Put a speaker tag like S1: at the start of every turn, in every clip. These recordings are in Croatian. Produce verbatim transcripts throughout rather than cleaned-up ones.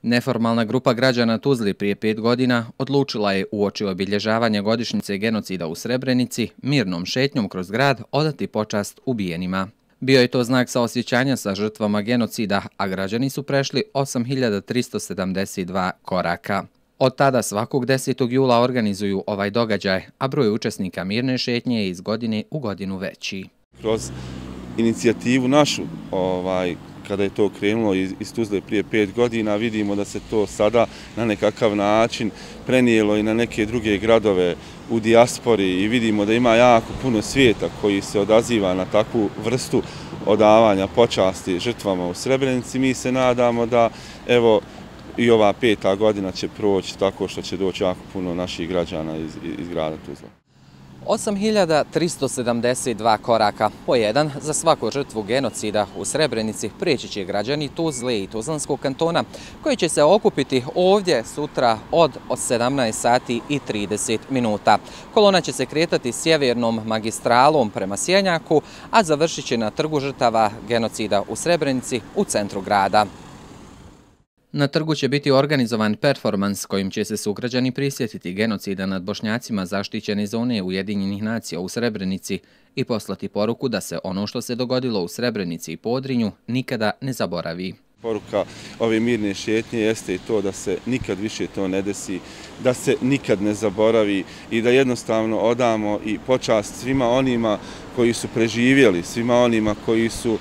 S1: Neformalna grupa građana Tuzli prije pet godina odlučila je uoči obilježavanja godišnjice genocida u Srebrenici mirnom šetnjom kroz grad odati počast ubijenima. Bio je to znak saosjećanja sa žrtvama genocida, a građani su prešli osam hiljada tristo sedamdeset dva koraka. Od tada svakog desetog jula organizuju ovaj događaj, a broj učesnika mirne šetnje je iz godine u godinu veći.
S2: Kroz inicijativu našu, ovaj, kada je to krenulo iz, iz Tuzle prije pet godina, vidimo da se to sada na nekakav način prenijelo i na neke druge gradove u dijaspori i vidimo da ima jako puno svijeta koji se odaziva na takvu vrstu odavanja počasti žrtvama u Srebrenici. Mi se nadamo da evo i ova peta godina će proći tako što će doći jako puno naših građana iz, iz grada Tuzla.
S1: osam hiljada tristo sedamdeset dva koraka, po jedan za svaku žrtvu genocida u Srebrenici, prijeći će građani Tuzle i Tuzlanskog kantona, koji će se okupiti ovdje sutra od sedamnaest sati i trideset minuta. Kolona će se kretati sjevernom magistralom prema Sjenjaku, a završit će na trgu žrtava genocida u Srebrenici u centru grada. Na trgu će biti organizovan performans kojim će se sugrađani prisjetiti genocida nad Bošnjacima zaštićene zone Ujedinjenih nacija u Srebrenici i poslati poruku da se ono što se dogodilo u Srebrenici i Podrinju nikada ne zaboravi.
S2: Poruka ove mirne šetnje jeste i to da se nikad više to ne desi, da se nikad ne zaboravi i da jednostavno odamo i počast svima onima koji su preživjeli, svima onima koji su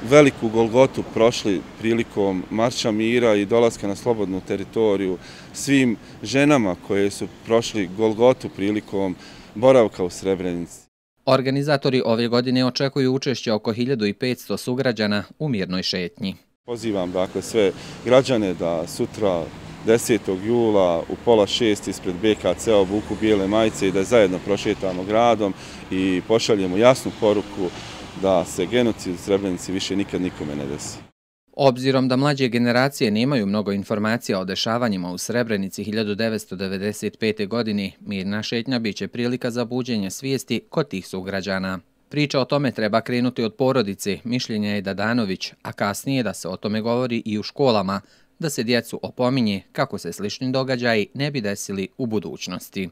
S2: veliku Golgotu prošli prilikom Marša mira i dolaska na slobodnu teritoriju, svim ženama koje su prošli Golgotu prilikom boravka u Srebrenici.
S1: Organizatori ove godine očekuju učešće oko hiljadu petsto sugrađana u mirnoj šetnji.
S2: Pozivam dakle sve građane da sutra desetog jula u pola šest ispred be ka ce obuku bijele majice i da zajedno prošetamo gradom i pošaljemo jasnu poruku da se genocid u Srebrenici više nikad nikome ne desi.
S1: Obzirom da mlađe generacije nemaju mnogo informacija o dešavanjima u Srebrenici hiljadu devetsto devedeset pete. godine, mirna šetnja biće prilika za buđenje svijesti kod tih sugrađana. Priča o tome treba krenuti od porodice, mišljenja je Dadanović, a kasnije da se o tome govori i u školama, da se djecu opominje kako se slični događaji ne bi desili u budućnosti.